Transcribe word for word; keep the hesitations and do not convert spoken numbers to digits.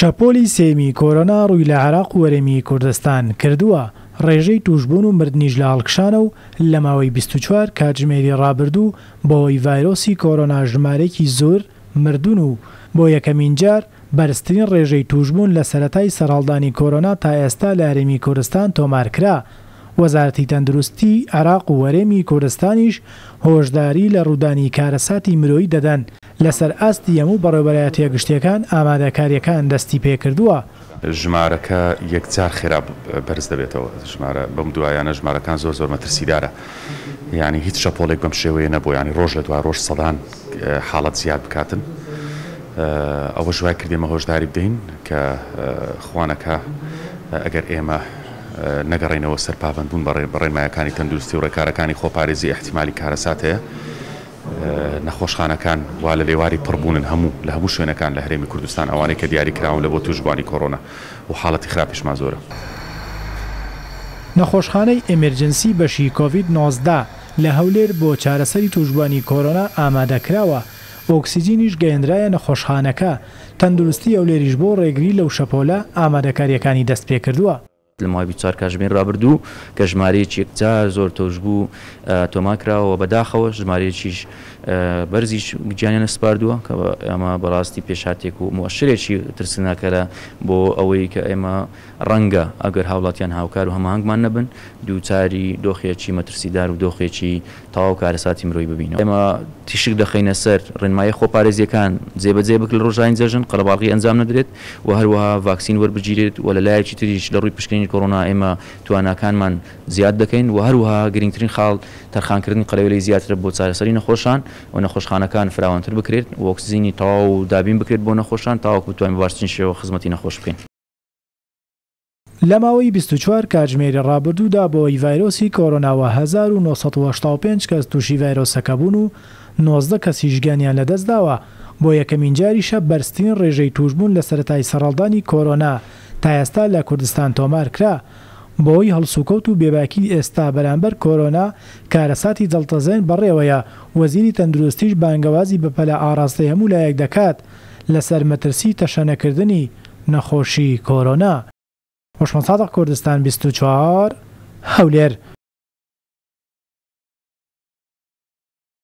شەپۆلی سێیەمی کۆرۆنا ڕووی لە عێراق و هەرێمی کوردستان کردووە، ڕێژەی تووشبوون و مردنیش لە هەڵکشانە و لە ماوەی بیست و چوار کاتژمێری ڕابردوو بەهۆی ڤایرۆسی کۆرۆنا ژمارەیەکی زۆر مردوون و بۆ یەکەمین جار بەرزترین ڕێژەی تووشبوون لە سەرەتای سەرهەڵدانی کۆرۆنا تا ئێستا لە هەرێمی کوردستان تۆمارکرا. وەزارەتی تەندروستی عێراق و هەرێمی کوردستانیش هۆشداری لە ڕوودانی کارەساتی مرۆیی دەدەن. لەسەر ئاستی هەموو بەڕێوەبەرایەتیە گشتیەکان ئامادەکاریەکان دەستی پێکردووە. ژمارەکە یەکجار خێرا بەرز دەبێتەوە. ژمارە بەم دوایانە ژمارەکان زۆر زۆر مەترسیدارە، یعنی هیچ شەپۆلێک بەم شێوەیە نەبوو، یعنی ڕۆژ لە دوای ڕۆژ سەدان حاڵەت زیاد بکاتن. ئەوە وای کردێمە هۆشداری بدەین کە خوانەکە ئەگەر ئێمە نەگەڕێنەوە سەر پابەندبوون بە ڕێنمایەکانی تەندروستی و ڕێکارەکانی خۆپارێزی احتیمالی کارەسات هەیە. نەخۆشخانەکان وا لە لێواری پڕبوونن هەموو لە هەموو شوێنەکان لە هەرێمی کوردستان ئەوانەی کە دیاری کراون لە بۆ تووشبووانی کۆرۆنا و حاڵەتی خراپیشمان زۆرە. نەخۆشخانەی ئێمێرجنسی بەشی کۆڤید نۆزدە لە هەولێر بۆ چارەسەری تووشبووانی کۆرۆنا ئامادەکراوە. ئۆکسیجینیش گەیەنرایە نەخۆشخانەکە. تەندروستی هەولێریش بۆ ڕێگری لەو شەپۆلە ئامادەکاریەکانی دەست پێکردووە. لە ماوەی بیست و چوار کاتژمێر ڕابردوو کە ژمارەیەکی یەکجار زۆر تۆشبوو تۆمار کراوە، بەداخەوە ژمارەیەکیش بەرزیش گیانیان سپاردووە کە ئەمە بەڕاستی پێشهاتێک و مؤشرێکی ترسناکەرە بۆ ئەوەی کە ئێمە ڕەنگە ئەگەر هاوڵاتیان هاوکار و هەماهەنگمان نەبن دووچاری دۆخێکی مەترسیدار و دۆخێکی تەواو کارەساتی مرۆیی ببینەوە. ئێمە تیشک دەخەینە سەر ڕێنمایی خۆپارێزیەکان جێبەجێ بکرێت لە ڕۆژانی جەژن، قەرەباڵغی ئەنجام نەدرێت و هەروەها ڤاکسین وەربگیرێت و لە لایەکی تریش لە ڕووی پشکنینی کۆرۆنا ئێمە تواناکانمان زیاد دەکەین و هەروەها گرنگترین خاڵ تەرخانکردنی قەرەوێلەی زیاترە بۆ چارەسەری نەخۆشان و نەخۆشخانەکان فراوانتر بکرێت و ئۆکسجینی تەواو دابین بکرێت بۆ نەخۆشان تاوەکو بتوانین بە باشترین شێوە خزمەتی نەخۆش بکەین. لە ماوەی بیست و چوار کاتژمێری ڕابردوودا بەهۆی ڤایرۆسی کۆرۆناوە هەزار و نۆ سەد و هەشتا و پێنج کەس تووشی ڤایرۆسەکە بوون و نۆزدە کەسیش گیانیان لەدەستداوە. بۆ یەکەمین جاریشە بەرزترین ڕێژەی تووشبوون لە سەرەتای سەرهەڵدانی کۆرۆنا تا ئێستا لە کوردستان تۆمار کرا. بەهۆی هەڵسوکەوت و بێباکی ئێستا بەرامبەر کۆرۆنا کارەساتی دڵتەزێن بەڕێوەیە. وەزیری تەندروستیش بانگەوازی بەپەلە ئاراستەی هەموو لایەک دەکات لەسەر مەترسی تەشەنەکردنی نەخۆشی کۆرۆنا. هۆشمەند سادق، کوردستان بیست و چوار، هەولێر.